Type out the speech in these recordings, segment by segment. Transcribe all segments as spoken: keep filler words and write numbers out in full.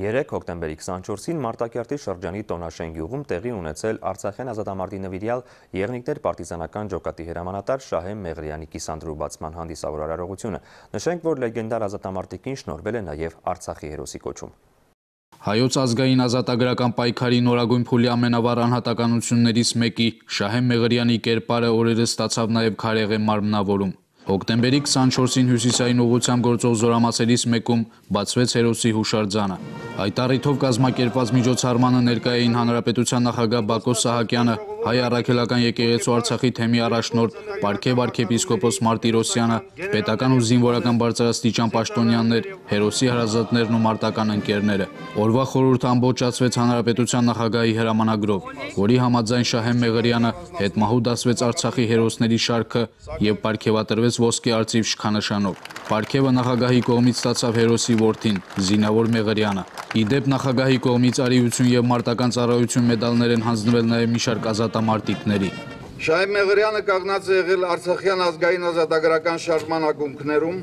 Երեկ հոկտեմբերի քսանչորսին Մարտակերտի շրջանի Տոնաշեն գյուղում տեղի ունեցել Արցախյան ազատամարտի նվիրյալ Եղնիկներ պարտիզանական ջոկատի հրամանատար Շահե Մեղրյանի կիսանդրու բացման հանդիսավոր արարողությունը։ Նշենք, որ լեգենդար ազատամարտիկին շնորհվել է նաև Արցախի հերոսի կոչում։ Հայոց ազգային ազատագրական պայքարի նորագույն փուլի ամենավառ անհատականություններից մեկի Շահե Մեղրյանի կերպարը օրերս ստացավ նաև քարեղեն մարմնավորում։ Հոկտեմբերի քսանչորսին հյուսիսային ուղղությամբ գործող զորամասերից մեկում բացվեց հերոսի հուշարձանը։ Այդ առիթով կազմակերպված միջոցառմանը ներկա էին Հանրապետության նախագահ Բակո Սահակյանը, Հայ առաքելական եկեղեցու Արցախի թեմի առաջնորդ Պարքև arքեպիսկոպոս Մարտիրոսյանը, պետական ու զինվորական բարձրաստիճան պաշտոնյաներ, հերոսի հարազատներն ու մարտական ընկերները։ Օրվա խորհուրդը ամբողջացվեց Հանրապետության նախագահի հրամանագրով, որի համաձայն Շահե Մեղրյանը հետմահու դասվեց Արցախի հերոսների շարքը եւ պարգևատրվեց ոսկե արծիվ շքանշանով։ Պարգևը նախագահի կողմից ստացավ հերոսի որդին, Զինավոր Մեղրյանը։ Ի դեպ նախագահի կողմից արիություն եւ մարտական ծառայություն մեդալներ են հանձնվել նաեւ մի շարք ազատամարտիկների։ Շահե Մեղրյանը կանգնած է եղել Արցախյան ազգային ազատագրական շարժման ակունքներում,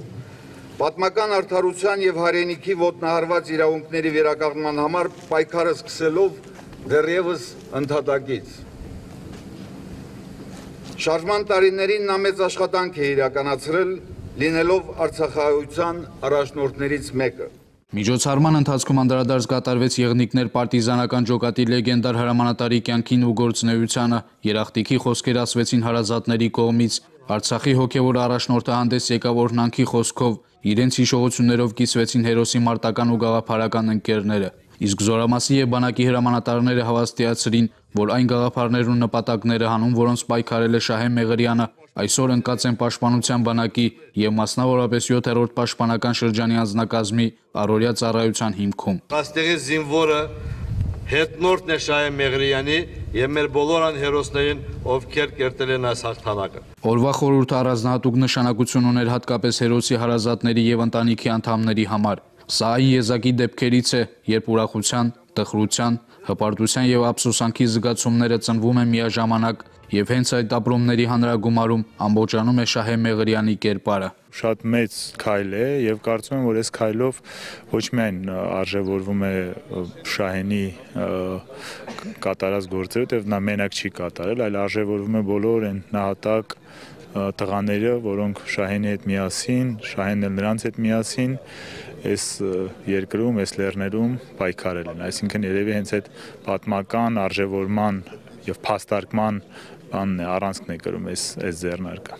պատմական արդարության եւ հայրենիքի ոտնահարված իրավունքների վերականգնման համար պայքարը սկսելով դեռևս ընդհատակից։ Շարժման տարիներին նա մեծ աշխատանք է իրականացրել, լինելով արցախահայության առաջնորդներից մեկը։ Միջոցառման ընթացքում անդրադարձ կատարվեց Եղնիկներ պարտիզանական ջոկատի լեգենդար հրամանատարի կյանքին ու գործունեությանը, երախտիկի խոսքեր ասվեցին հարազատների կողմից, Արցախի հոգևոր առաջնորդը հանդես եկավ օրհնանքի խոսքով, իրենց հիշողություններով կիսվեցին հերոսի մարտական ու գաղափարական ընկերները։ Իսկ զորամասի եւ բանակի հրամանատարները հավաստիացրին, որ այն գաղափարներն ու նպատակները հանուն որոնց պայքարել է Շահե Մեղրյանը, այսօր ընկած են պաշտպանության բանակի եւ մասնավորապես յոթերորդ պաշտպանական շրջանի անձնակազմի առօրյա ծառայության հիմքում։ Այստեղի զինվորը հետնորդն է Շահե Մեղրյանի եւ մեր բոլոր այն հերոսներին, ովքեր կերտել են այս հաղթանակը։ Օրվա խորհուրդը առանձնահատուկ նշանակություն ուներ հատկապես հերոսի հարազատների եւ ընտանիքի անդամների համար։ Սա այն եզակի դեպքերից է, երբ ուրախության, տխրության, հպարտության եւ ափսոսանքի զգացումները ծնվում են միաժամանակ եւ հենց այդ ապրումների հանրագումարում ամբողջանում է Շահե Մեղրյանի կերպարը։ Շատ մեծ քայլ է եւ կարծում եմ, որ այս քայլով ոչ միայն արժևորվում է Շահենի կատարած գործերը, որտեղ նա մենակ չի կատարել, այլ արժևորվում է բոլոր այն նահատակ տղաները, որոնք Շահենի հետ միասին, Շահենն էլ նրանց հետ միասին այս երկրում, այս լեռներում պայքարել են։ Այսինքն երևի հենց այդ պատմական արժևորման եւ փաստարկման բանն է, առանցքն է կրում այս այս ձեռնարկը։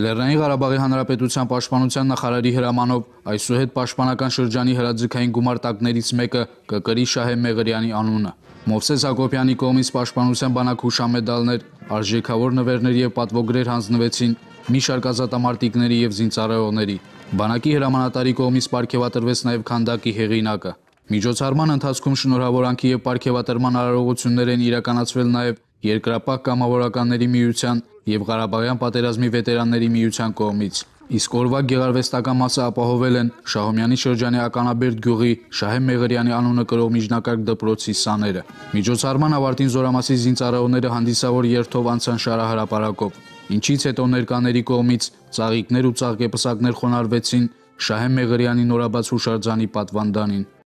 Լեռնային Ղարաբաղի Հանրապետության պաշտպանության նախարարի հրամանով այսուհետ պաշտպանական շրջանի հրաձգային գումարտակներից մեկը կկրի Շահե Մեղրյանի անունը։ Մովսես Հակոբյանի կողմից պաշտպանության բանակ հուշամեդալներ, արժեքավոր նվերներ եւ պատվոգրեր հանձնվեցին մի շարք ազատամարտիկների եւ զինծառայողների։ Բանակի հրամանատարի կողմից պարգևատրվեց նաև քանդակի հեղինակը։ Միջոցառման ընթացքում շնորհավորանքի եւ պարգևատրման արարողություններ են իրականացվել նաև Երկրապահ կամավորականների միության եւ Ղարաբաղյան պատերազմի վետերանների միության կողմից։ Իսկ օրվա գեղարվեստական մասը ապահովել են Շահումյանի շրջանի Ականաբերդ գյուղի Շահե Մեղրյանի անունը կրող միջնակարգ դպրոցի սաները։ Միջոցառման ավարտին զորամասի զինծառայողները հանդիսավոր երթով անցան շարահրապարակով, ինչից հետո ներկաների կողմից ծաղիկներ ու ծաղկեպսակներ խոնարհվեցին Շահե Մեղրյանի նորաբաց հուշարձանի պատվանդանին։